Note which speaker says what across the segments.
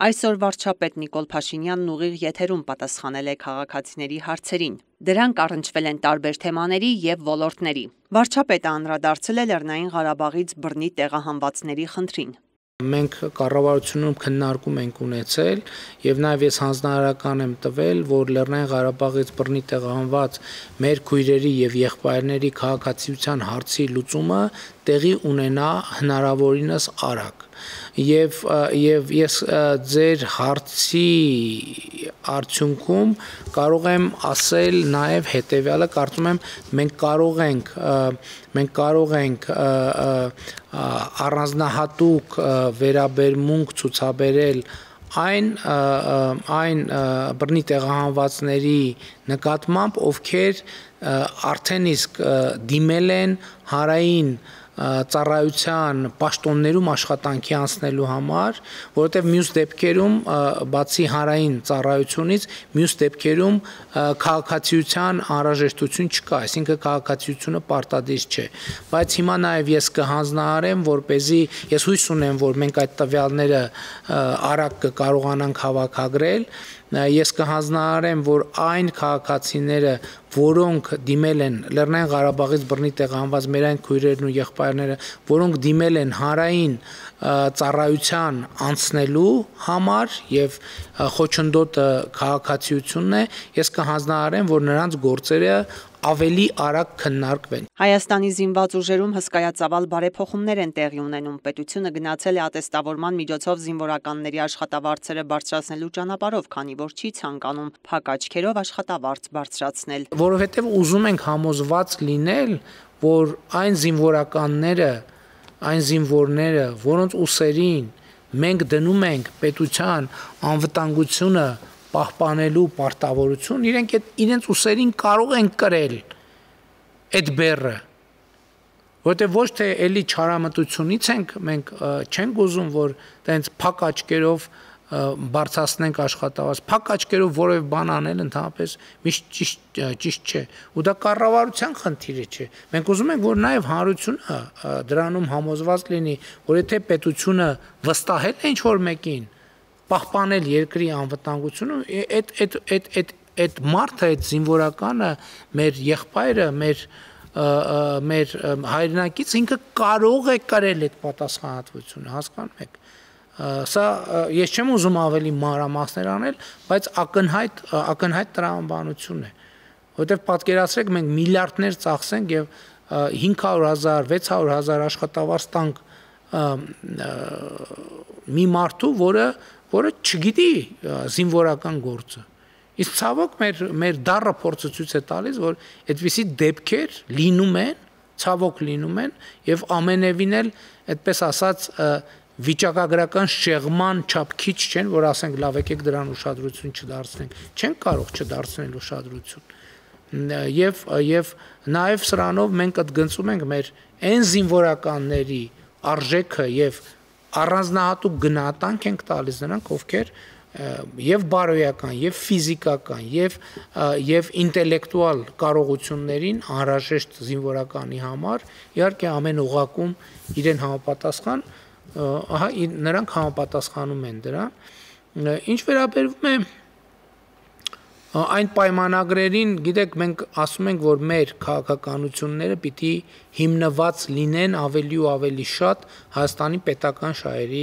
Speaker 1: Այսօր վարչապետ Նիկոլ Փաշինյանն ուղիղ եթերում պատասխանել է քաղաքացիների հարցերին։ Դրանք առնչվել են տարբեր թեմաների եւ ոլորտների։ Վարչապետը անդրադարձել է Լեռնային Ղարաբաղից բռնի տեղահանվածների խնդրին։
Speaker 2: Մենք կառավարությունում քննարկում ենք ունեցել եւ նաեւ ես հանձնարարական եմ տվել, որ Լեռնային Ղարաբաղից բռնի տեղահանված մեր քույրերի եւ եղբայրների քաղաքացիության հարցի լուծումը տեղի ունենա հնարավորինս արագ։ Եվ ես ձեր հարցի արդյունքում կարող եմ ասել նաեւ հետեւյալը, կարծում եմ մենք կարող ենք առանձնահատուկ վերաբերմունք ցուցաբերել այն բռնի տեղահանվածների նկատմամբ, ովքեր արդեն իսկ դիմել են հանրային ծառայության պաշտոններում աշխատանքի անցնելու համար, որովհետև մյուս դեպքերում բացի հանրային ծառայությունից, մյուս դեպքերում քաղաքացիության անհրաժեշտություն չկա, այսինքն քաղաքացիությունը պարտադիր չէ, բայց հիմա նաև ես կհանձնարարեմ, որպեսզի ես հույս ունեմ, որ մենք այդ տվյալները արագ կկարողանանք հավաքագրել, ես կհանձնարարեմ, որ այն քաղաքացիները, որոնք դիմել են Լեռնային Ղարաբաղից բռնի տեղահանված մեր այն քույրերն ու եղբայրները, որոնք դիմել են հանրային ծառայության անցնելու համար եւ խոչընդոտը քաղաքացիությունն է, ես կհանձնարարեմ, որ նրանց գործերը ավելի արագ քննարկվեն։
Speaker 1: Հայաստանի զինված ուժերում հսկայածավալ բարեփոխումներ են տեղի ունենում։ Պետությունը գնացել է ատեստավորման միջոցով զինվորականների աշխատավարձերը բարձրացնելու ճանապարհով, քանի որ չի ցանկանում փակ աչքերով աշխատավարձ բարձրացնել։
Speaker 2: Որովհետև ուզում ենք համոզված լինել, որ այն զինվորները, որոնց ուսերին մենք դնում ենք պետության անվտանգությունը պահպանելու պարտավորություն, իրենց ուսերին կարող են կրել այդ բեռը, որովհետև ոչ թե էլի չարամտությունից մենք չենք ուզում, որ տենց փակ աչքերով բարձրացնենք աշխատավարձ, փակ աչքերով որևէ բան անել ընդհանրապես միշտ ճիշտ չէ, ու դա կառավարության խնդիրը չէ։ Մենք ուզում ենք, որ նաև հանրությունը դրանում համոզված լինի, որ եթե պետությունը վստահել է ինչ-որ մեկին պահպանել երկրի անվտանգությունը, այդ մարդը, այդ զինվորականը, մեր եղբայրը, մեր հայրենակից ինքը կարող է կրել այդ պատասխանատվությունը, հասկանում եք։ Սա ես չեմ ուզում ավելի մանրամասներ անել, բայց ակնհայտ տրամաբանություն է, որովհետև պատկերացրեք մենք միլիարդներ ծախսենք եւ 500,000, 600,000 աշխատավարձ տանք մի մարդու, որը չգիտի զինվորական գործը։ Իսկ ցավոք մեր դառը փորձը ցույց է տալիս, որ այդպիսի դեպքեր լինում են, ցավոք լինում են եւ ամենևին էլ այդպես ասած վիճակագրական շեղման չափ քիչ չեն, որ ասենք լավ եկեք դրան ուշադրություն չդարձնենք, չեն կարող չդարձնել ուշադրություն։ Եվ նաև սրանով մենք ընդգծում ենք մեր այն զինվորականների արժեքը եւ առանձնահատուկ գնահատանք ենք տալիս նրանք, ովքեր եւ բարոյական, եւ ֆիզիկական, եւ ինտելեկտուալ կարողություններին անհրաժեշտ զինվորականի համար, իհարկե ամեն օղակում իրեն համապատասխան, նրանք համապատասխանում են դրան։ Ինչ վերաբերում է այն պայմանագրերին, գիտեք, մենք ասում ենք, որ մեր քաղաքականությունները պիտի հիմնված լինեն ավելի ու ավելի շատ Հայաստանի պետական շահերի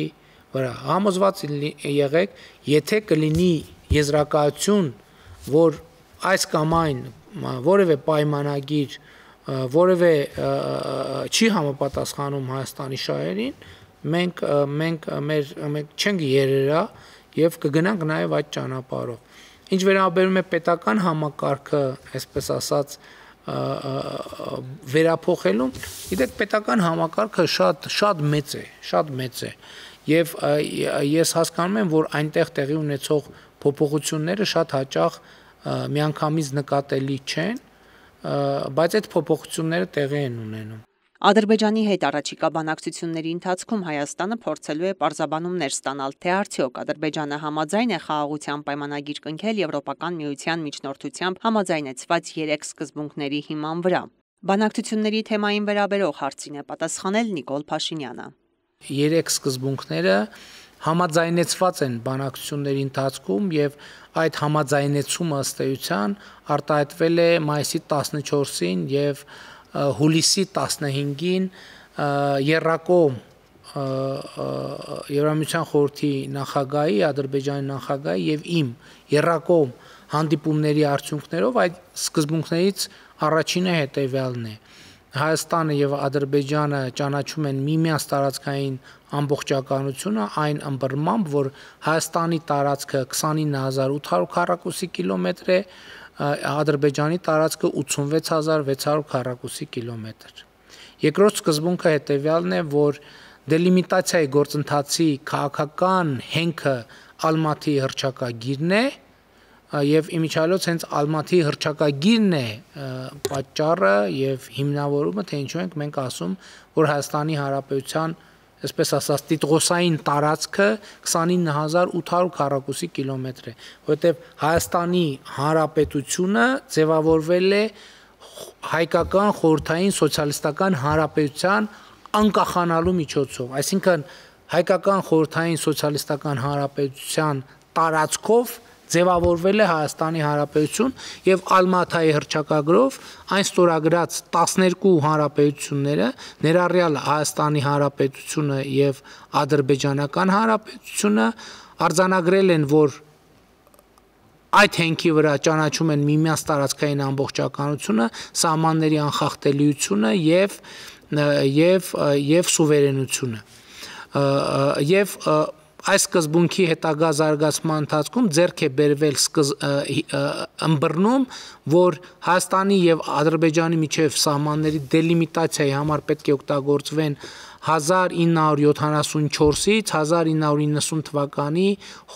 Speaker 2: վրա։ Համոզված եղեք, եթե կլինի եզրակացություն, որ այս կամ այն որևէ պայմանագիր, որևէ չի համապատասխանում Հայաստանի շահերին, մենք չենք երերա եւ կգնանք նաեւ այդ ճանապարհով։ Ինչ վերաբերում է պետական համակարգը, այսպես ասած, վերափոխելուն, գիտեք, պետական համակարգը շատ մեծ է, եւ ես հասկանում եմ, որ այնտեղ տեղի ունեցող փոփոխությունները շատ հաճախ միանգամից նկատելի չեն, բայց այդ փոփոխությունները տեղի են ունենում։
Speaker 1: Ադրբեջանի հետ առաջիկա բանակցությունների ընթացքում Հայաստանը փորձելու է պարզաբանումներ ստանալ, թե արդյոք Ադրբեջանը համաձայն է խաղաղության պայմանագիր կնքել Եվրոպական միության միջնորդությամբ համաձայնեցված 3 սկզբունքների հիման վրա։ Բանակցությունների թեմային վերաբերող հարցին է պատասխանել Նիկոլ Փաշինյանը։
Speaker 2: 3 սկզբունքները համաձայնեցված են բանակցությունների ընթացքում եւ այդ համաձայնեցումը ըստ էության արտահայտվել է մայիսի 14-ին եւ հուլիսի 15-ին երրակողմ Եվրամիության խորհրդի նախագահի, Ադրբեջանի նախագահի եւ իմ երրակողմ հանդիպումների արդյունքներով այդ սկզբունքներից առաջինը հետեւյալն է. Հայաստանը եւ Ադրբեջանը ճանաչում են միմյանց տարածքային ամբողջականությունը այն ըմբռնմամբ, որ Հայաստանի տարածքը 29800 քառակուսի կիլոմետր է, Ադրբեջանի տարածքը 86600 քառակուսի կիլոմետր։ Երկրորդ սկզբունքը հետեւյալն է, որ դելիմիտացիայի գործընթացի քաղաքական հենքը Ալմատի հռչակագիրն է եւ իմիջիալոց հենց Ալմատի հռչակագիրն է պատճառը եւ հիմնավորումը, թե ինչու ենք մենք ասում, որ Հայաստանի Հանրապետության, այսպես ասած, տիտղոսային տարածքը 29800 քառակուսի կիլոմետր է, որովհետեւ Հայաստանի Հանրապետությունը ձևավորվել է հայկական խորհրդային սոցիալիստական հանրապետության անկախանալու միջոցով, այսինքն հայկական խորհրդային սոցիալիստական հանրապետության տարածքով ձևավորվել է Հայաստանի Հանրապետություն եւ Ալմաթայի հռչակագրով այն ստորագրած 12 հանրապետությունները, ներառյալ Հայաստանի Հանրապետությունը եւ Ադրբեջանական Հանրապետությունը, արձանագրել են, որ այդ հենքի վրա ճանաչում են միմյանց տարածքային ամբողջականությունը, սահմանների անխախտելիությունը եւ սուվերենությունը եւ այս սկզբունքի հետագա զարգացման ընթացքում ձեռք է բերվել ըմբռնում, որ Հայաստանի եւ Ադրբեջանի միջև սահմանների դելիմիտացիայի համար պետք է օգտագործվեն 1974-ից 1990 թվականի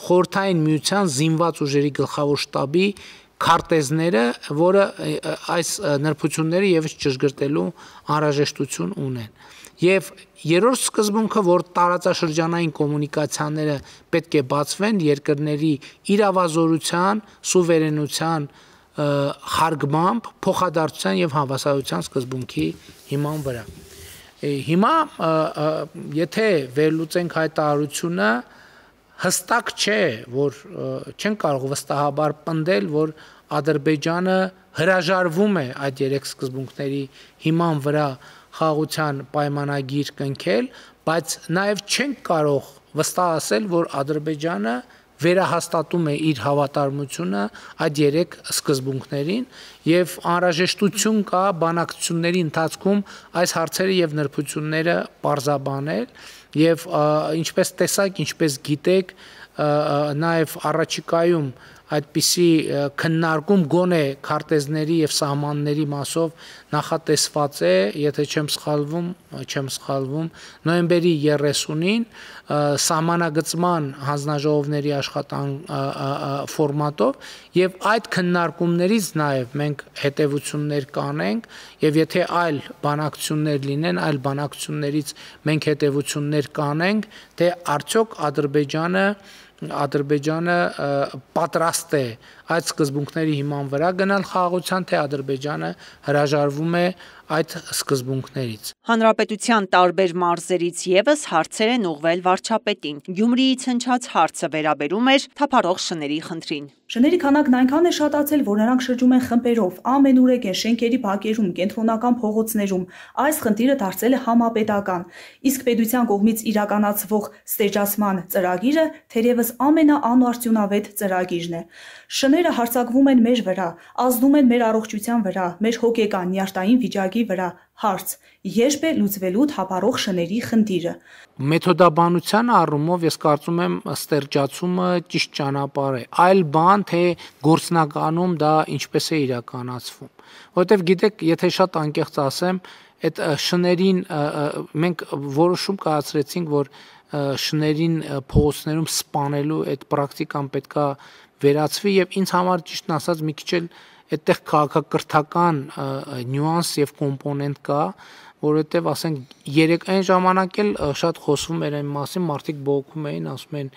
Speaker 2: Խորհրդային Միության զինված ուժերի գլխավոր շտաբի քարտեզները, որը այս նրբությունները եւս ճշգրտելու անհրաժեշտություն ունեն։ Եվ երրորդ սկզբունքը, որ տարածաշրջանային կոմունիկացիաները պետք է բացվեն երկրների իրավազորության, սուվերենության հարգմամբ, փոխադարձության եւ հավասարության սկզբունքի հիման վրա։ Հիմա եթե վերլուծենք հայտարարությունը, հստակ չէ, որ չեն կարող վստահաբար պնդել, որ Ադրբեջանը հրաժարվում է այդ երեք սկզբունքների հիման վրա խաղաղության պայմանագիր կնքել, բայց նաև չենք կարող վստահ ասել, որ Ադրբեջանը վերահաստատում է իր հավատարմությունը այդ երեք սկզբունքներին եւ անհրաժեշտություն կա բանակցությունների ընթացքում այս հարցերը եւ նրբությունները պարզաբանել եւ ինչպես տեսակ, ինչպես գիտեք, նաև առաջիկայում այդպիսի քննարկում գոնե քարտեզների եւ սահմանների մասով նախատեսված է, եթե չեմ սխալվում, նոյեմբերի 30-ին սահմանագծման հանձնաժողովների ֆորմատով եւ այդ քննարկումներից նաև մենք հետեւություններ կանենք եւ եթե այլ բանակցություններ լինեն, այլ բանակցություններից մենք հետեւություններ կանենք, թե արդյոք Ադրբեջանը պատրաստ է այդ սկզբունքների հիման վրա գնալ խաղաղության, թե Ադրբեջանը հրաժարվում է այդ սկզբունքներից։
Speaker 1: Հանրապետության տարբեր մարզերից եւս հարցեր են ուղղվել վարչապետին։ Գյումրիից հնչած հարցը վերաբերում էր թափառող շների խնդրին։
Speaker 3: Շների քանակն այնքան է շատացել, որ նրանք շրջում են խմբերով, ամենուրեք են շենքերի բակերում, կենտրոնական փողոցներում։ Այս խնդիրը դարձել է համապետական։ Իսկ պետության կողմից իրականացվող ստերջացման ծրագիրը թերևս ամենաանարդյունավետ ծրագիրն է։ Շները հարձակվում են մեր վրա, ազդում են մեր առողջության վրա, մեր հոգեկան նյարդային վիճակի վրա։ Հարց. երբ է լուծվելու թափառող շների խնդիրը։
Speaker 2: Մեթոդաբանության առումով ես կարծում եմ ստերջացումը ճիշտ ճանապարհ է։ Այլ բան, թե գործնականում դա ինչպես է իրականացվում։ Որովհետև գիտեք, եթե շատ անկեղծ ասեմ, այդ շներին մենք որոշում կայացրեցինք, որ շներին փողոցներում սպանելու այդ պրակտիկան պետքա վերացվի եւ ինձ համար ճիշտն ասած մի քիչ էլ այդտեղ քաղաքակրթական նյուանս եւ կոմպոնենտ կա, որովհետեւ ասենք երեք այն ժամանակ էլ շատ խոսվում էր այն մասին, մարդիկ բողոքում էին, ասում են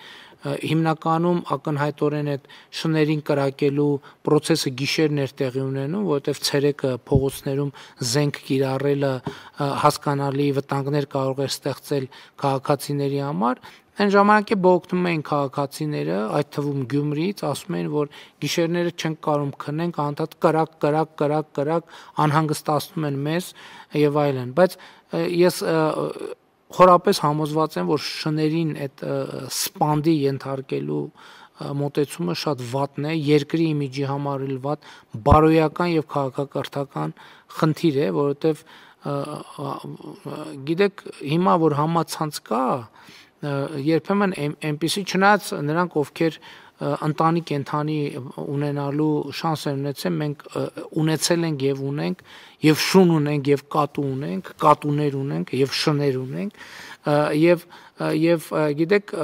Speaker 2: հիմնականում ակնհայտորեն այդ շներին կրակելու process-ը գիշերն էր տեղի ունենում, որովհետև ցերեկը փողոցներում զենք կիրառելը հասկանալի վտանգներ կարող է ստեղծել քաղաքացիների համար։ Այն ժամանակ է բողոքնում էին քաղաքացիները, այդ թվում Գյումրիից, ասում էին, որ գիշերները չենք կարող քնենք, անդադ կրակ անհանգստացնում են մեզ եւ այլն, բայց ես խորապես համոզված եմ, որ շներին այդ սպանդի ենթարկելու մոտեցումը շատ վատն է, երկրի իմիջի համար էլ վատ, բարոյական եւ քաղաքակրթական խնդիր է, որովհետեւ գիտեք, հիմա որ համացանց կա, երբեմն այնպեսի չնայած նրանք ովքեր ընտանի կենթանի ունենալու շանս են ունեցել, մենք ունեցել ենք եւ ունենք եւ շուն ունենք եւ կատու ունենք, կատուներ ունենք եւ շներ ունենք եւ գիտեք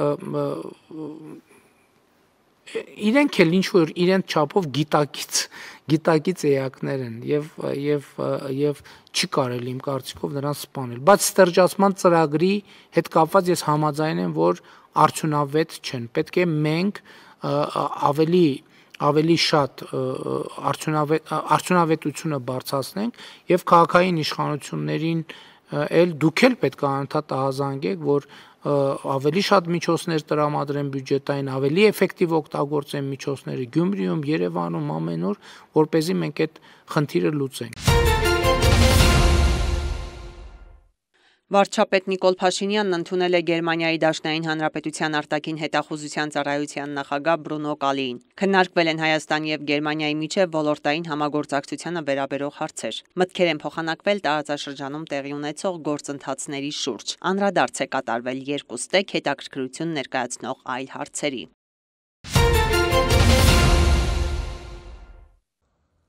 Speaker 2: իրենք էլ ինչ որ իրենց չափով գիտակից էակներ են եւ չի կարելի իմ կարծիքով նրանց սպանել, բայց ստերջացման ծրագրի հետ կապված ես համաձայն եմ, որ արդյունավետ չեն, պետք է մենք ավելի շատ արդյունավետությունը բարձրացնենք եւ քաղաքային իշխանություններին էլ դուք էլ պետք է անդադ ահազանգեք, որ ավելի շատ միջոցներ տրամադրեն բյուջետային, ավելի էֆեկտիվ օգտագործեն միջոցները Գյումրիում, Երևանում, ամենուր, որպեսզի մենք այդ խնդիրը լուծենք։
Speaker 1: Վարչապետ Նիկոլ Փաշինյանն ընդունել է Գերմանիայի Դաշնային Հանրապետության արտաքին հետախուզության ծառայության նախագահ Բրունո Կալիին։ Քննարկվել են Հայաստանի եւ Գերմանիայի միջև ոլորտային համագործակցությանը վերաբերող հարցեր։ Մտքեր են փոխանակվել տարածաշրջանում տեղի ունեցող գործընթացների շուրջ։ Անդրադարձ է կատարվել երկու ստեկ հետաքրքրություն ներկայացնող այլ հարցերի։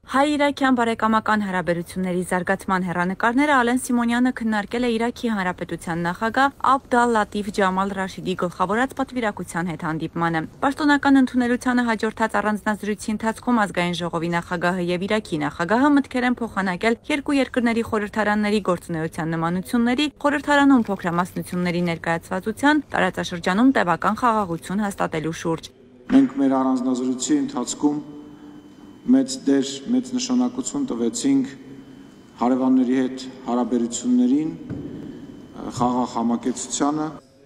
Speaker 4: Հայ-իրաքյան բարեկամական հարաբերությունների զարգացման հեռանկարները Ալեն Սիմոնյանը քննարկել է Իրաքի Հանրապետության նախագահ Աբդ ալ-Լատիֆ Ջամալ Ռաշիդի գլխավորած պատվիրակության հետ հանդիպմանը։ Պաշտոնական ընդունելությանը հաջորդած առանձնազրույցի ընթացքում ազգային ժողովի նախագահը եւ Իրաքի նախագահը մտքեր են փոխանակել երկու երկրների խորհրդարանների գործունեության նմանությունների, խորհրդարանում փոքրամասնությունների ներկայացվածության, տարածաշրջանում տևական խաղաղություն հաստատելու շուրջ։
Speaker 5: Մենք մեր առանձնազրույցի ընթացքում մեծ դեր, մեծ նշանակություն տվեցինք հարևանների հետ հարաբերություններին, խաղաղ համակեցությանը։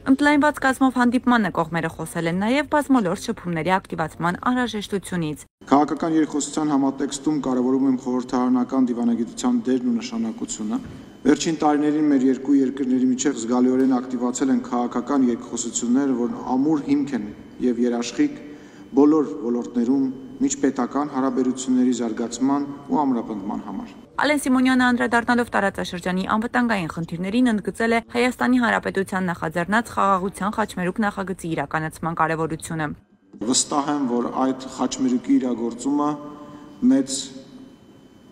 Speaker 4: Ընդլայնված կազմով հանդիպմանը կողմերը խոսել են նաև բազմոլորտ շփումների ակտիվացման անհրաժեշտությունից։
Speaker 5: Քաղաքական երկխոսության համատեքստում կարևորում եմ խորհրդարանական դիվանագիտության դերն ու նշանակությունը։ Վերջին տարիներին մեր երկու երկրների միջև զգալիորեն ակտիվացել են քաղաքական երկխոսությունները, որ ամուր հիմք են եւ երաշխիք բոլոր ոլորտներում միջպետական հարաբերությունների զարգացման ու ամրապնդման համար։
Speaker 4: Ալեն Սիմոնյանը անդրադառնալով տարածաշրջանի անվտանգային խնդիրներին ընդգծել է Հայաստանի Հանրապետության նախաձեռնած խաղաղության խաչմերուկ նախագծի իրականացման կարևորությունը։
Speaker 5: Վստահ եմ, որ այդ խաչմերուկի իրագործումը մեծ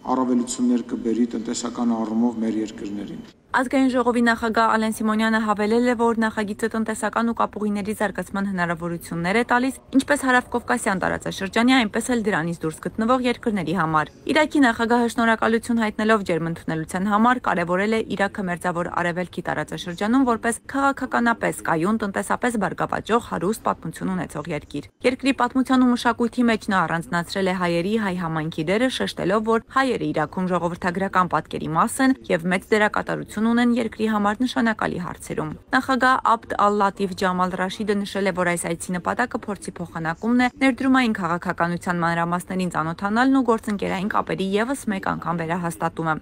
Speaker 5: առավելություններ կբերի տնտեսական առումով մեր երկրներին։
Speaker 4: Ազգային ժողովի նախագահ Ալեն Սիմոնյանը հավելել է, որ նախագիծը տնտեսական ու կապուղիների զարգացման հնարավորություններ է տալիս ինչպես հարավկովկասյան տարածաշրջանի, այնպես էլ դրանից դուրս գտնվող երկրների համար։ Իրաքի նախագահը շնորհակալություն հայտնելով ջերմընդունելության համար կարևորել է Իրաքը մերձավոր արևելքի տարածաշրջանում որպես քաղաքականապես կայուն, տնտեսապես բարգավաճող, հարուստ պատմություն ունեցող երկիր։ Երկրի պատմության ու մշակույթի մեջ նա առանձնացրել է հայերի հայ համայնքի դերը, շեշտելով, որ հայերը Իրաքում ժողովրդագրական պատկերի մաս են եւ մեծ դերակատարություն ունեն երկրի համար նշանակալի հարցերում։ Նախագահ Աբդ ալ-Լատիֆ Ջամալ Ռաշիդը նշել է, որ այս այցի նպատակը փորձի փոխանակումն է, ներդրումային քաղաքականության մանրամասներին ծանոթանալն ու գործընկերային կապերի եւս մեկ անգամ վերահաստատումը։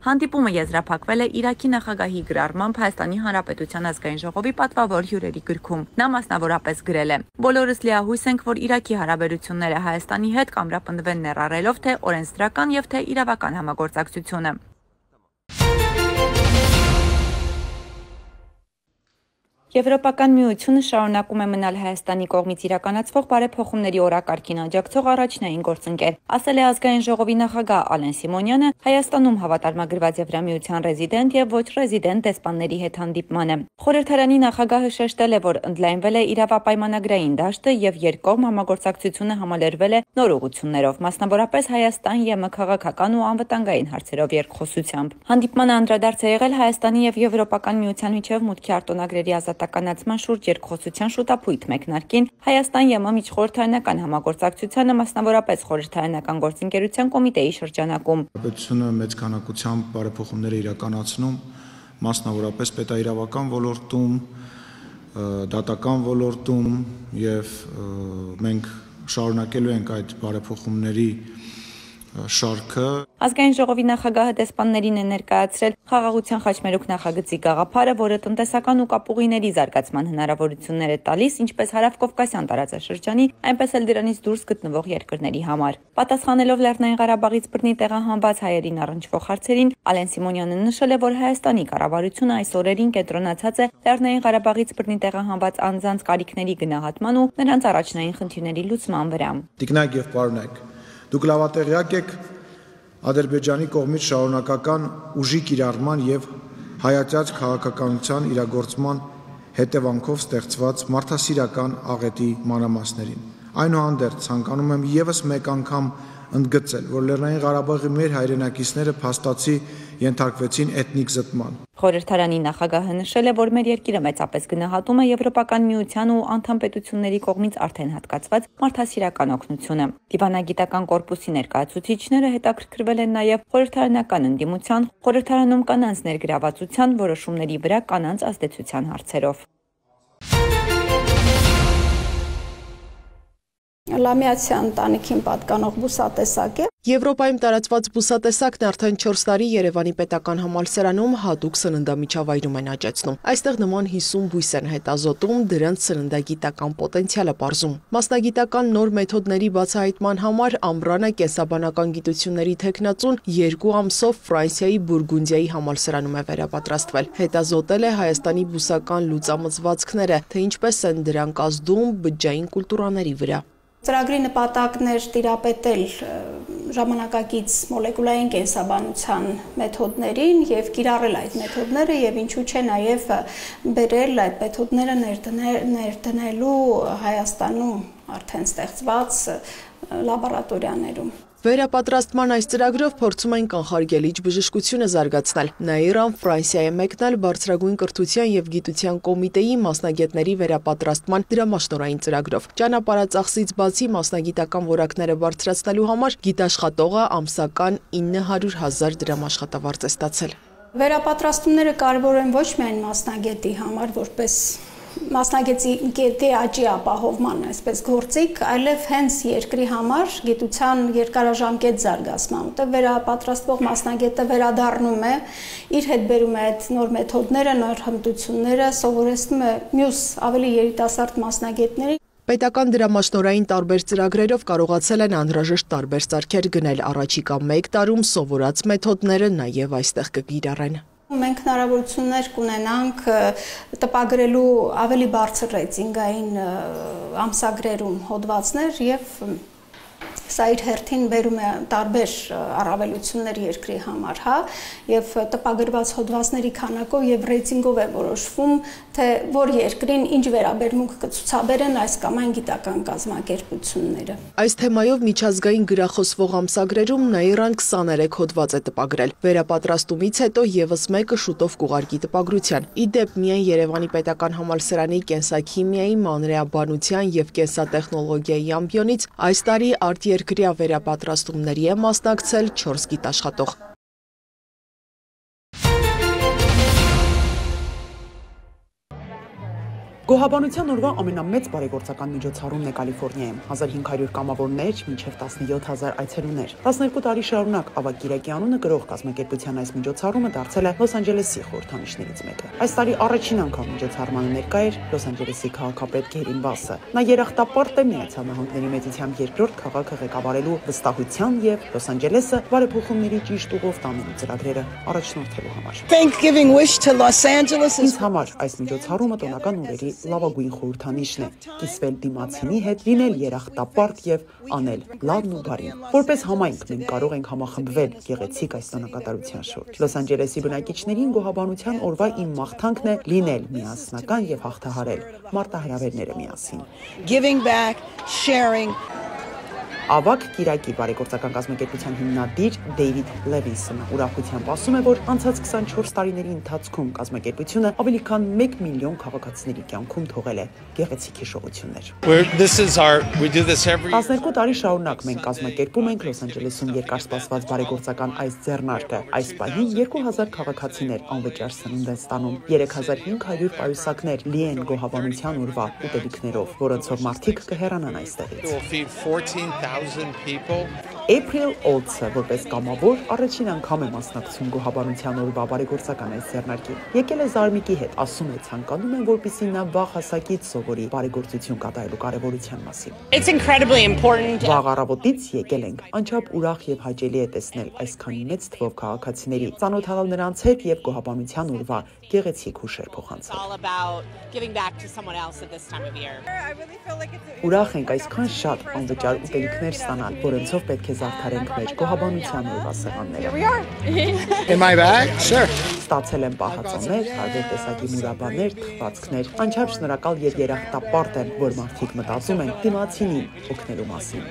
Speaker 4: Հանդիպումը եզրափակվել է Իրաքի նախագահի գրառմամբ Հայաստանի Հանրապետության ազգային ժողովի պատվավոր հյուրերի գրքում։ Նա մասնավորապես գրել է. «Բոլորս լիահույս ենք, որ Իրաքի հարաբերությունները Հայաստանի հետ կամրապնդվեն ներառելով թե օրենսդրական եւ թե իրավական համագործակցությունը»։ Եվրոպական միությունը շարունակում է մնալ Հայաստանի կողմից իրականացվող բարեփոխումների օրակարգին աջակցող առաջնային գործընկեր, ասել է ազգային ժողովի նախագահ Ալեն Սիմոնյանը Հայաստանում հավատարմագրված Եվրամիության ռեզիդենտ եւ ոչ ռեզիդենտ դեսպանների հետ հանդիպմանը։ Խորհրդարանի նախագահը շեշտել է, որ ընդլայնվել է իրավապայմանագրային դաշտը եւ երկկողմ համագործակցությունը համալրվել է նոր ուղղություններով, մասնավորապես Հայաստան ԵՄ քաղաքական ու անվտանգային հարցերով երկխոսությամբ։ Հանդիպմանը անդրադարձ է եղել Հայաստանի եւ Եվրոպական միության միջև մուտքի արտոնագրերի ազատ քարտականացման շուրջ երկխոսության շուտապույտ մեկնարկին Հայաստան-ԵՄ միջխորհրդարանական համագործակցությանը, մասնավորապես խորհրդարանական գործընկերության կոմիտեի շրջանակում։
Speaker 5: Պետությունը մեծ քանակությամբ բարեփոխումներ է իրականացնում, մասնավորապես պետաիրավական ոլորտում, դատական ոլորտում եւ մենք շարունակելու ենք այդ բարեփոխումների շարքը։
Speaker 4: Ազգային ժողովի նախագահը դեսպաններին է ներկայացրել խաղաղության խաչմերուկ նախագծի գաղափարը, որը տնտեսական ու կապուղիների զարգացման հնարավորություններ է տալիս ինչպես հարավկովկասյան տարածաշրջանի, այնպես էլ դրանից դուրս գտնվող երկրների համար։ Պատասխանելով Լեռնային Ղարաբաղից բռնի տեղահանված հայերին առնչվող հարցերին, Ալեն Սիմոնյանը նշել է, որ Հայաստանի կառավարությունը այս օրերին կենտրոնացած է Լեռնային Ղարաբաղից բռնի տեղահանված անձանց կարիքների գնահատման ու նրանց առաջնային խնդիրների լուծման վրա։
Speaker 5: Տիկնակ եւ պարոնայք, դուք լավատեղյակ եք Ադրբեջանի կողմից շարունակական ուժի կիրառման եւ հայացած քաղաքականության իրագործման հետևանքով ստեղծված մարդասիրական աղետի մանրամասներին։ Այնուհանդերձ ցանկանում եմ եւս մեկ անգամ ընդգծել, որ Լեռնային Ղարաբաղի մեր հայրենակիցները փաստացի ենթարկվեցին էթնիկ զտման։
Speaker 4: Խորհրդարանի նախագահը նշել է, որ մեր երկիրը մեծապես գնահատում է Եվրոպական միության ու անդամ պետությունների կողմից արդեն հատկացված մարդասիրական օգնությունը։ Դիվանագիտական կորպուսի ներկայացուցիչները հետաքրքրվել են նաև խորհրդարանական ընդդիմության, խորհրդարանում կանանց ներգրավվածության, որոշումների վրա կանանց ազդեցության հարցերով։
Speaker 6: Լամիացյան ընտանիքին պատկանող բուսատեսակ է։
Speaker 7: Եվրոպայում տարածված բուսատեսակն արդեն 4 տարի Երևանի պետական համալսարանում հատուկ սննդամիջավայրում են աճեցնում։ Այստեղ նման 50 բույս են հետազոտում, դրանց սննդագիտական պոտենցիալը պարզում։ Մասնագիտական նոր մեթոդների բացահայտման համար ամռանը կենսաբանական գիտությունների թեկնածուն 2 ամսով Ֆրանսիայի Բուրգունդիայի համալսարանում է վերապատրաստվել։ Հետազոտել է Հայաստանի բուսական լուծամծվածքները, թե ինչպես են դրանք ազդում բջջային կուլտուրաների վրա։
Speaker 6: Ծրագրի նպատակն էր տիրապետել ժամանակակից մոլեկուլային կենսաբանության մեթոդներին եւ կիրառել այդ մեթոդները եւ ինչու՞ չէ նաեւ բերել այդ մեթոդները ներդնելու Հայաստանում արդեն ստեղծված լաբորատորիաներում։
Speaker 7: Վերապատրաստման այս ծրագրով փորձում են կանխարգելիչ բժշկությունը զարգացնել։ Նաիրան Ֆրանսիա է մեկնել բարձրագույն կրթության եւ գիտության կոմիտեի մասնագետների վերապատրաստման դրամաշնորհային ծրագրով։ Ճանապարհածախսից բացի մասնագիտական որակները բարձրացնելու համար գիտաշխատողը ամսական 900,000 դրամ աշխատավարձ է ստացել։
Speaker 6: Վերապատրաստումները կարևոր են ոչ միայն մասնագետի համար, որպես մասնագետի աճի ապահովման այսպես գործիք, այլև հենց երկրի համար գիտության երկարաժամկետ զարգացման, որտեղ վերապատրաստվող մասնագետը վերադառնում է, իր հետ բերում է այդ նոր մեթոդները, նոր հմտությունները, սովորեցնում է մյուս ավելի երիտասարդ մասնագետների։
Speaker 7: Պետական դրամաշնորհային տարբեր ծրագրերով կարողացել են անհրաժեշտ տարբեր սարքեր գնել, առաջիկա 1 տարում սովորած մեթոդները նաև այստեղ կկիրառեն։
Speaker 6: Մենք հնարավորություններ կունենանք տպագրելու ավելի բարձր ռեյտինգային ամսագրերում հոդվածներ եւ սա իր հերթին բերում է տարբեր առավելություններ երկրի համար, հա, եւ տպագրված հոդվածների քանակով եւ ռեյտինգով է որոշվում, թե որ երկրին ինչ վերաբերմունք կցուցաբերեն այս կամ այն գիտական կազմակերպությունները։
Speaker 7: Այս թեմայով միջազգային գրախոսվող ամսագրերում Նաիրան 23 հոդված է տպագրել։ Վերապատրաստումից հետո եւս մեկը շուտով կուղարկի տպագրության։ Իդեպ միայն Երևանի պետական համալսարանի կենսաքիմիայի, մանրէաբանության եւ կենսատեխնոլոգիայի ամբիոնից այս տարի արտերկրյա վերապատրաստումների է մասնակցել 4 գիտաշխատող։
Speaker 8: Գոհաբանության օրվա ամենամեծ բարեգործական միջոցառումն է Կալիֆոռնիայում։ 1500 կամավորներ, մինչև 17000 այցելուներ։ 12 տարի շարունակ Ավագ Կիրակի անունը գրող կազմակերպության այս միջոցառումը դարձել է Լոս Անջելեսի խորհրդանիշներից մեկը։ Այս տարի առաջին անգամ միջոցառմանը ներկա էր Լոս Անջելեսի քաղաքապետ Գերին Բասը։ Նա երախտապարտ է Միացյալ Նահանգների մեծությամբ երկրորդ քաղաքը ղեկավարելու վստահության եւ Լոս Անջելեսը բարեփոխումների ճիշտ ուղով տանելու ծրագրերը առաջնորդելու համար։
Speaker 9: Thanksgiving wish to Los Angeles
Speaker 8: Ինձ համար այս միջոցառումը տոնական օրերի լավագույն խորհրդանիշն է՝ կիսվել դիմացինի հետ, լինել երախտապարտ եւ անել լավն ու բարին։ Որպես համայնք մենք կարող ենք համախմբվել գեղեցիկ այս տոնակատարության շուրջ։ Լոս Անջելեսի բնակիչներին գոհաբանության օրվա իմ մաղթանքն է լինել միասնական եւ հաղթահարել մարտահրավերները միասին։
Speaker 9: Giving back, sharing.
Speaker 8: Ավակ Կիրակի բարեգործական կազմակերպության հիմնադիր Դեյվիդ Լևինսոնը ուրախությամբ ասում է, որ անցած 24 տարիների ընթացքում կազմակերպությունը ավելի քան 1 միլիոն քաղաքացիների կյանքում թողել է գեղեցիկ հիշողություններ։ 12 տարի շարունակ մենք կազմակերպում ենք Լոս Անջելեսում երկարսպասված բարեգործական այս ձեռնարկը։ Այս պահին 2000 քաղաքացիներ անվճար սնունդ են ստանում, 3500 պայուսակներ լի են գոհաբանության օրվա ուտելիքներով, որոնցով մարդիկ կհեռանան այստեղից։ April Olds-ը որպես կամավոր առաջին անգամ է մասնակցում գոհաբանության օրվա բարեգործական այս ձեռնարկին։ Եկել է Զարմիկի հետ, ասում է ցանկանում են, որպեսզի նա վաղ հասակից սովորի բարեգործություն կատարելու կարևորության մասին։ Վաղ առավոտից եկել ենք, անչափ ուրախ եւ հաճելի է տեսնել այսքան մեծ թվով քաղաքացիների, ծանոթանալ նրանց հետ եւ գոհաբանության օրվա գեղեցիկ հուշեր փոխանցել։ Ուրախ ենք այսքան շատ անվճար ուտելիքներ ստանալ, որոնցով պետք է զարդարենք մեր գոհաբանության օրվա սեղանները։ Ստացել եմ պահածոներ, տարբեր տեսակի մուրաբաներ, թխվածքներ, անչափ շնորհակալ եւ երախտապարտ եմ, որ մարդիկ մտածում են դիմացինին օգնելու մասին։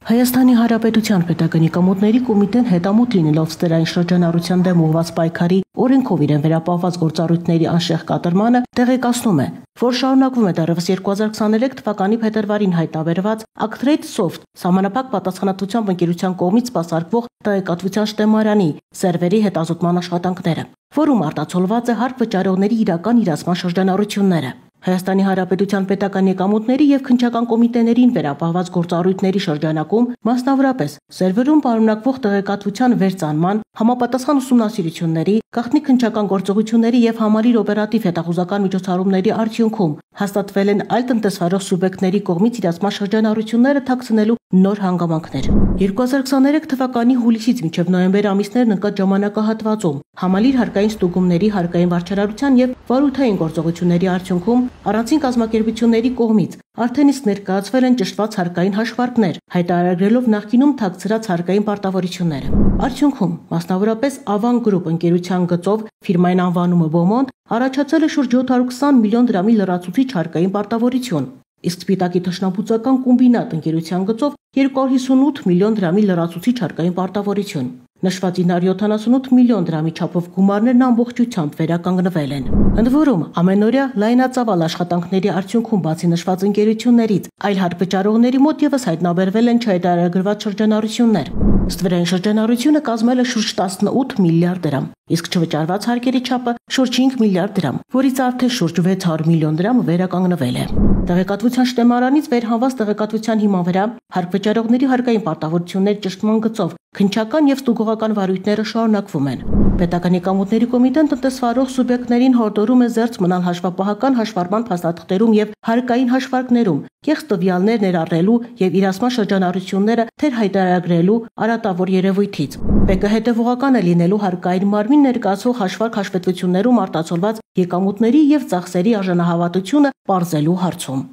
Speaker 10: Հայաստանի Հանրապետության Պետականի կամուտների կոմիտեն հետամուտ լինելով ստերային շրջանառության դեմ ուղղված պայքարի օրենքով իրեն վերապահված գործառույթների անշեղ կատարմանը տեղեկացնում է, որ շարունակվում է դեռևս 2023 թվականի փետրվարին հայտնաբերված Actrade Soft սահմանափակ պատասխանատվությամբ ընկերության կողմից սպասարկվող տեղեկատվության շտեմարանի սերվերի հետազոտման աշխատանքները, որում արտացոլված է հարկ վճարողների իրական իրացման շրջանառությունները։ Հայաստանի Հանրապետության պետական եկամուտների եւ քննչական կոմիտեներին վերապահված գործառույթների շրջանակում մասնավորապես սերվերում պարունակվող տեղեկատվության վերծանման, համապատասխան ուսումնասիրությունների, գաղտնի քննչական գործողությունների եւ համալիր օպերատիվ հետախուզական միջոցառումների արդյունքում հաստատվել են այլ տնտեսվարող սուբյեկտների կողմից իրացման շրջանառությունները թաքցնելու նոր հանգամանքներ։ 2023 թվականի հուլիսից մինչև նոյեմբեր ամիսներն ընկած ժամանակահատվածում համալիր հարկային ստուգումների, հարկային վարչարարության եւ վարույթային գործողությունների արդյունքում առանցին կազմակերպությունների կողմից արդեն իսկ ներկայացվել են ճշտված հարկային հաշվարկներ, հայտարարելով նախկինում թաքցրած հարկային պարտավորությունները։ Արդյունքում, մասնավորապես Avan Group ընկերության գծով ֆիրմային անվանումը Beaumont առաջացել է շուրջ 720 միլիոն դրամի լրացուցիչ հարկային պարտավորություն, իսկ Սպիտակի թշնամբուծական կոմբինատ ընկերության գծով 258 միլիոն դրամի լրացուցիչ հարկային պարտավորություն։ Նշված 978 միլիոն դրամի չափով գումարներն ամբողջությամբ վերականգնվել են։ Ընդ որում, ամենօրյա լայնածավալ աշխատանքների արդյունքում բացի նշված ընկերություններից, այլ հարկ վճարողների մոտ եւս հայտնաբերվել են չհայտարարագրված շրջանառություններ։ Ստվերային շրջանառությունը կազմել է շուրջ 18 միլիարդ դրամ, իսկ չվճարված հարկերի չափը շուրջ 5 միլիարդ դրամ, որից արդեն շուրջ 600 միլիոն դրամը վերականգնվել է։ Տեղեկատվության շտեմարանից վերհանված տեղեկատվության հիման վրա հարկ վճարողների հարկային պարտավորությունների ճշտման գծով քննչական եւ ստուգողական վարույթները շարունակվում են։ Պետական եկամուտների կոմիտեն տնտեսվարող սուբյեկտներին հորդորում է զերծ մնալ հաշվապահական հաշվառման փաստաթղթերում եւ հարկային հաշվարկներում, կեղծ տվյալներ ներառելու եւ իրացման շրջանառությունները թեր հայտարարագրելու արատավոր երևույթից։ ՊԿ հետևողական է լինելու հարկային մարմին ներկայացվող հաշվարկ հաշվետվություններում արտացոլված եկամուտների եւ ծախսերի արժանահավատությունը պարզելու հարցում։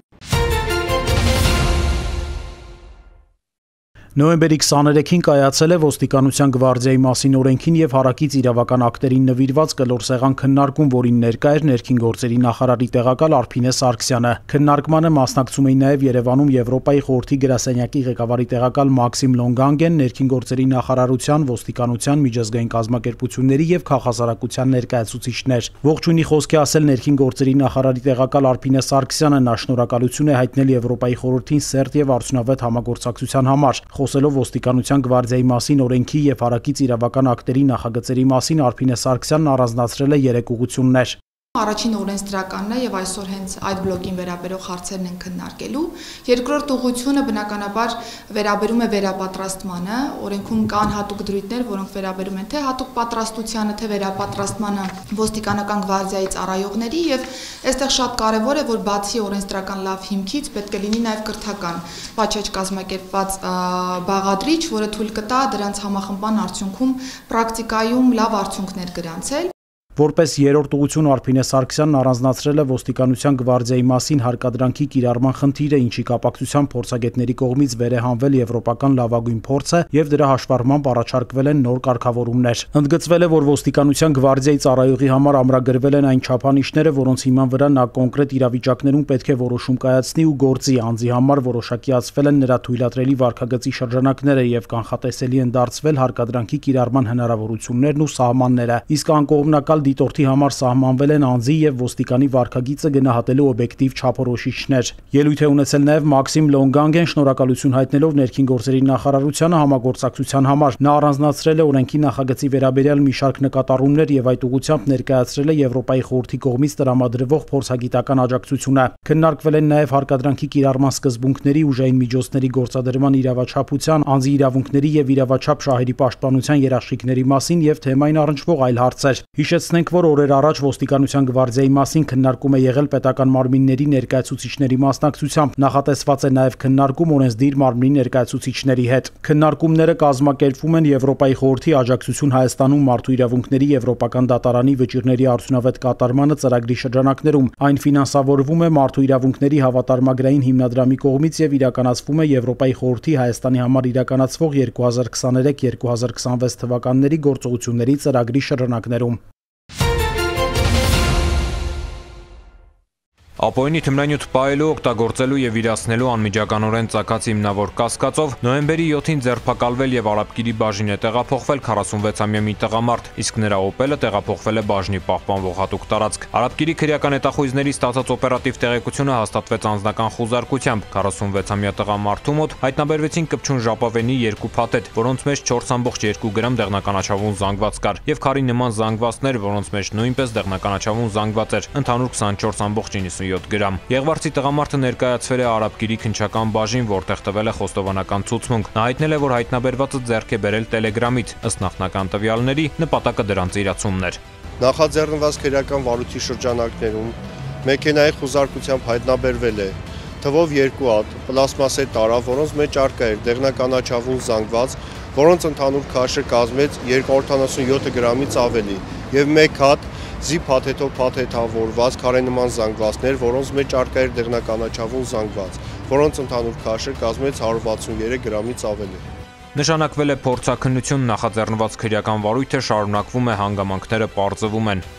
Speaker 11: Նոյեմբերի 23-ին կայացել է ոստիկանության գվարդիայի մասին օրենքին եւ հարակից իրավական ակտերին նվիրված կլոր սեղան քննարկում, որին ներկա էր ներքին գործերի նախարարի տեղակալ Արփինե Սարգսյանը։ Քննարկմանը մասնակցում էին նաեւ Երևանում Եվրոպայի խորհրդի գրասենյակի ղեկավարի տեղակալ Մաքսիմ Լոնգանգեն, ներքին գործերի նախարարության, ոստիկանության, միջազգային կազմակերպությունների եւ քաղաքասարակության ներկայացուցիչներ։ Ողջույնի խոսքի ասել ներքին գործերի նախարարի տեղակալ Արփինե Սարգսյանը նա շնորհակալություն է հայտնել Եվրոպայի խորհրդին սերտ եւ արդյունավետ համագործակցության համար։ Խոսելով ոստիկանության գվարդիայի մասին օրենքի եւ հարակից իրավական ակտերի նախագծերի մասին Արփինե Սարգսյանն առանձնացրել է 3 ուղղություններ։
Speaker 12: Առաջին օրենսդրականն է եւ այսօր հենց այդ բլոկին վերաբերող հարցերն են քննարկելու։ Երկրորդ ուղղությունը բնականաբար վերաբերում է վերապատրաստմանը, օրենքում կան հատուկ դրույթներ, որոնք վերաբերում են թե հատուկ պատրաստությանը, թե վերապատրաստմանը ոստիկանական գվարդիայի ծառայողների եւ այստեղ շատ կարեւոր է, որ բացի օրենսդրական լավ հիմքից պետք է լինի նաեւ կրթական պատշաճ կազմակերպված բաղադրիչ, որը թույլ կտա դրանց համախմբման արդյունքում պրակտիկայում լավ արդյունքներ գրանցել։
Speaker 11: Որպես երրորդ ուղղություն Արփինե Սարգսյանն առանձնացրել է ոստիկանության գվարդիայի մասին հարկադրանքի կիրառման խնդիրը, ինչի կապակցությամբ փորձագետների կողմից վերեհանվել եվրոպական լավագույն փորձը եւ դրա հաշվառմամբ առաջարկվել են նոր կարգավորումներ։ Ընդգծվել է, որ ոստիկանության գվարդիայի ծառայողի համար ամրագրվել են այն չափանիշները, որոնց հիման վրա նա կոնկրետ իրավիճակներում պետք է որոշում կայացնի ու գործի անձի համար որոշակիացվել են նրա թույլատրելի վարքագծի շրջանակները եւ կանխատեսելի են դարձվել հարկադրանքի կիրառման հնարավորություններն ու սահմանները, իսկ անկողմնակալ դիտորդի համար սահմանվել են անձի եւ ոստիկանի վարքագիծը գնահատելու օբյեկտիվ չափորոշիչներ։ Ելույթ է ունեցել նաեւ Մաքսիմ Լոնգանգեն, շնորհակալություն հայտնելով ներքին գործերի նախարարությանը համագործակցության համար։ Նա առանձնացրել է օրենքի նախագծի վերաբերյալ մի շարք նկատառումներ եւ այդ ուղղությամբ ներկայացրել է Եվրոպայի խորհրդի կողմից տրամադրվող փորձագիտական աջակցությունը։ Քննարկվել են նաեւ հարկադրանքի կիրառման սկզբունքների, ուժային միջոցների գործադրման իրավաչափության, անձի իրավունքների եւ իրավաչափ շահերի պաշտպանության երաշխիքների մասին եւ թեմային առնչվող այլ հարցեր։ Հիշեցնենք, որ օրեր առաջ ոստիկանության գվարդիայի մասին քննարկում է եղել պետական մարմինների ներկայացուցիչների մասնակցությամբ։ Նախատեսված է նաեւ քննարկում օրենսդիր մարմնի ներկայացուցիչների հետ։ Քննարկումները կազմակերպվում են Եվրոպայի խորհրդի աջակցություն Հայաստանում մարդու իրավունքների Եվրոպական դատարանի վճիռների արդյունավետ կատարմանը ծրագրի շրջանակներում։ Այն ֆինանսավորվում է Մարդու իրավունքների հավատարմագրային հիմնադրամի կողմից եւ իրականացվում է Եվրոպայի խորհրդի Հայաստանի համար իրականացվող 2023-2026 թվականների գործողությունների ծրագրի շրջանակներում։
Speaker 13: Ապօրինի թմրանյութ պահելու, օգտագործելու եւ իրացնելու անմիջականորեն ծագած հիմնավոր կասկածով նոյեմբերի 7-ին ձերբակալվել եւ Արաբկիրի բաժին է տեղափոխվել 46-ամյա մի տղամարդ, իսկ նրա օպելը տեղափոխվել է բաժնի պահպանվող հատուկ տարածք։ Արաբկիրի քրեական հետախույզների ստացած օպերատիվ տեղեկությունը հաստատվեց անձնական խուզարկությամբ։ 46-ամյա տղամարդու մոտ հայտնաբերվեցին կպչուն ժապավենի 2 փաթեթ, որոնց մեջ 4.2 գրամ դեղնականաչավուն զանգված կար եւ քարի նման զանգվածներ, որոնց մեջ նույնպես դեղնականաչավուն զանգված էր, ընդհանուր 24.97 գրամ։ Եղվարցի տղամարդը ներկայացվել է Արաբկիրի քննչական բաժին, որտեղ տվել է խոստովանական ցուցմունք։ Նա հայտնել է, որ հայտնաբերվածը ձեռք է բերել Telegram-ից, ըստ նախնական տվյալների, նպատակը դրանց իրացումն էր։
Speaker 14: Նախաձեռնված քրեական վարույթի շրջանակներում մեքենայի խուզարկությամբ հայտնաբերվել է թվով 2 հատ պլաստմասե տարավ, որոնց մեջ առկա էր դեղնականաչավուն զանգված, որոնց ընդհանուր քաշը կազմեց 277 գրամից ավելի, եւ 1 հատ զի փաթեթով փաթեթավորված քարենման զանգվածներ, որոնց մեջ առկա էր դեղնականաչավուն զանգված, որոնց ընդհանուր քաշը կազմեց 163 գրամից ավելի։
Speaker 13: Նշանակվել է փորձաքննություն, նախաձեռնված քրեական վարույթը շարունակվում է, հանգամանքները պարզվում են։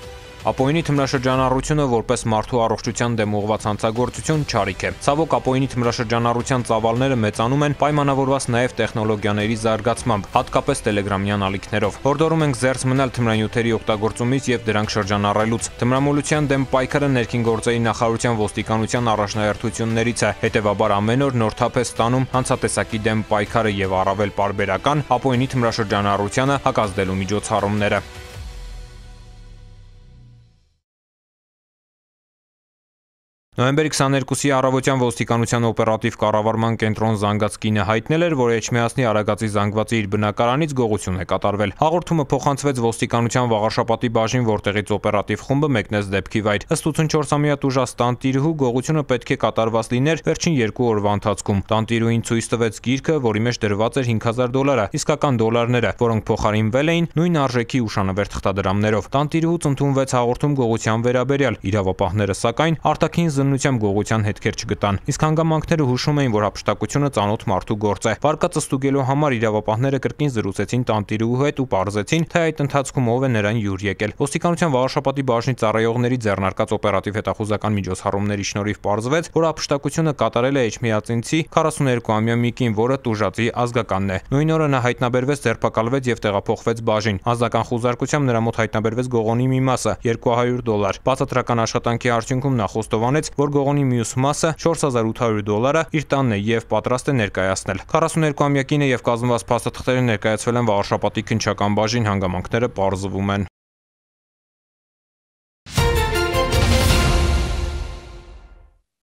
Speaker 13: Ապօրինի թմրաշրջանառությունը որպես մարդու առողջության դեմ ուղղված հանցագործություն չարիք է։ Ցավոք ապօրինի թմրաշրջանառության ծավալները մեծանում են, պայմանավորված նաև տեխնոլոգիաների զարգացմամբ, հատկապես տելեգրամյան ալիքներով։ Հորդորում ենք զերծ մնալ թմրանյութերի օգտագործումից եւ դրանք շրջանառելուց։ Թմրամոլության դեմ պայքարը ներքին գործերի նախարարության ոստիկանության առաջնահերթություններից է։ Հետևաբար ամեն օր նոր թափ է ստանում հանցատեսակի դեմ պայքարը եւ առավել պարբերական ապօրինի թմրաշրջանառությանը հակազդելու միջոցառումները։ Նոյեմբերի 22-ի առավոտյան ոստիկանության օպերատիվ կառավարման կենտրոն զանգած կինը հայտնել էր, որ Էջմիածնի Արագածի զանգվածի իր բնակարանից գողություն է կատարվել։ Հաղորդումը փոխանցվեց ոստիկանության Վաղարշապատի բաժին, որտեղից օպերատիվ խումբը մեկնեց դեպքի վայր։ Ըստ 84-ամյա տուժած տանտիրուհու գողությունը պետք է կատարված լիներ վերջին 2 օրվա ընթացքում։ Տանտիրուհին ցույց տվեց գիրքը, որի մեջ դրված էր $5000, իսկական դոլարները, որոնք փոխարինվել էին նույն արժեքի ուշանվեր թղթադրամներով։ Տանտիրուհուց ընդունվեց հաղորդում գողության վերաբերյալ։ Իրավապահները սակայն արտաքին զննությամբ գողության հետքեր չգտան, իսկ հանգամանքները հուշում էին, որ հափշտակությունը ծանոթ մարդու գործ է։ Վարկածը ստուգելու համար իրավապահները կրկին զրուցեցին տանտիրուհու հետ ու պարզեցին, թե այդ ընթացքում ով է նրան յուր եկել։ Ոստիկանության Վաղարշապատի բաժնի ծառայողների ձեռնարկած օպերատիվ հետախուզական միջոցառումների շնորհիվ պարզվեց, որ հափշտակությունը կատարել է Էջմիածինցի 42-ամյա մի կին, որը տուժածի ազգականն է։ Նույն օրը նա հայտնաբերվեց, ձերբակալվեց եւ տեղափոխվեց բաժին։ Անձնական խուզարկությամբ նրա մոտ հայտնաբերվեց գողոնի մի մասը $200։ Բացատրական աշխատանքի արդյունքում նա խոստովանեց, որ գողոնի մյուս մասը $4800 իր տանն է եւ պատրաստ է ներկայացնել։ 42-ամյա կինը եւ կազմված փաստաթղթերը ներկայացվել են Վաղարշապատի քննչական բաժին, հանգամանքները պարզվում են։